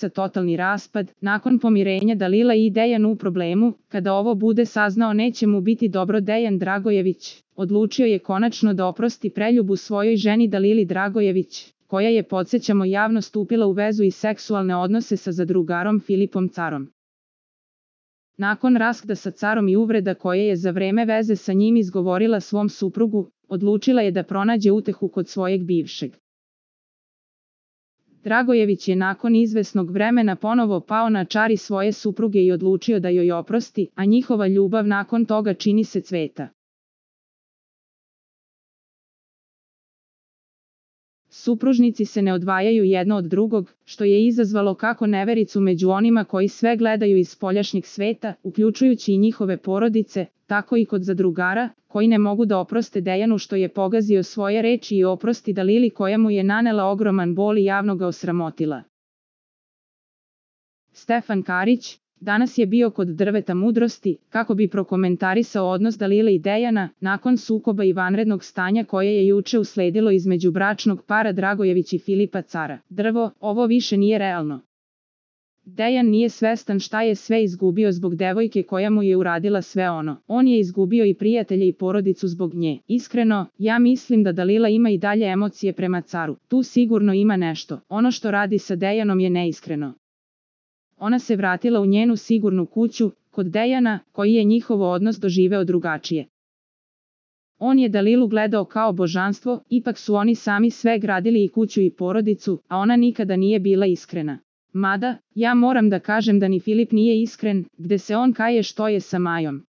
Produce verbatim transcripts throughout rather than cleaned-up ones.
porodica totalni raspad, nakon pomirenja Dalila i Dejan u problemu, kada ovo bude saznao neće mu biti dobro. Dejan Dragojević odlučio je konačno da oprosti preljubu svojoj ženi Dalili Dragojević, koja je, podsjećamo, javno stupila u vezu i seksualne odnose sa zadrugarom Filipom Carom. Nakon raskida sa Carom i uvreda koje je za vreme veze sa njim izgovorila svom suprugu, odlučila je da pronađe utehu kod svojeg bivšeg. Dragojević je nakon izvesnog vremena ponovo pao na čari svoje supruge i odlučio da joj oprosti, a njihova ljubav nakon toga čini se cveta. Supružnici se ne odvajaju jedno od drugog, što je izazvalo kako nevericu među onima koji sve gledaju iz spoljašnjeg sveta, uključujući i njihove porodice, tako i kod zadrugara, koji ne mogu da oproste Dejanu što je pogazio svoje reči i oprosti Dalili koja mu je nanela ogroman bol i javno ga osramotila. Stefan Karić danas je bio kod drveta mudrosti, kako bi prokomentarisao odnos Dalile i Dejana, nakon sukoba i vanrednog stanja koje je juče usledilo između bračnog para Dragojević i Filipa Cara. Drvo, ovo više nije realno. Dejan nije svestan šta je sve izgubio zbog devojke koja mu je uradila sve ono. On je izgubio i prijatelje i porodicu zbog nje. Iskreno, ja mislim da Dalila ima i dalje emocije prema Caru. Tu sigurno ima nešto. Ono što radi sa Dejanom je neiskreno. Ona se vratila u njenu sigurnu kuću, kod Dejana, koji je njihov odnos doživeo drugačije. On je Dalilu gledao kao božanstvo, ipak su oni sami sve gradili i kuću i porodicu, a ona nikada nije bila iskrena. Mada, ja moram da kažem da ni Filip nije iskren, gde se on kaje što je sa Majom.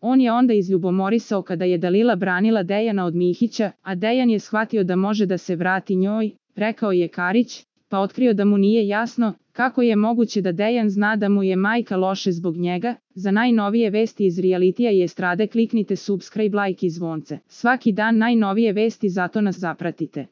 On je onda izljubomorisao kada je Dalila branila Dejana od Mihića, a Dejan je shvatio da može da se vrati njoj, rekao je Karić, pa otkrio da mu nije jasno kako je moguće da Dejan zna da mu je majka loše zbog njega. Za najnovije vesti iz realitija i estrade kliknite subscribe, like i zvonce. Svaki dan najnovije vesti, zato nas zapratite.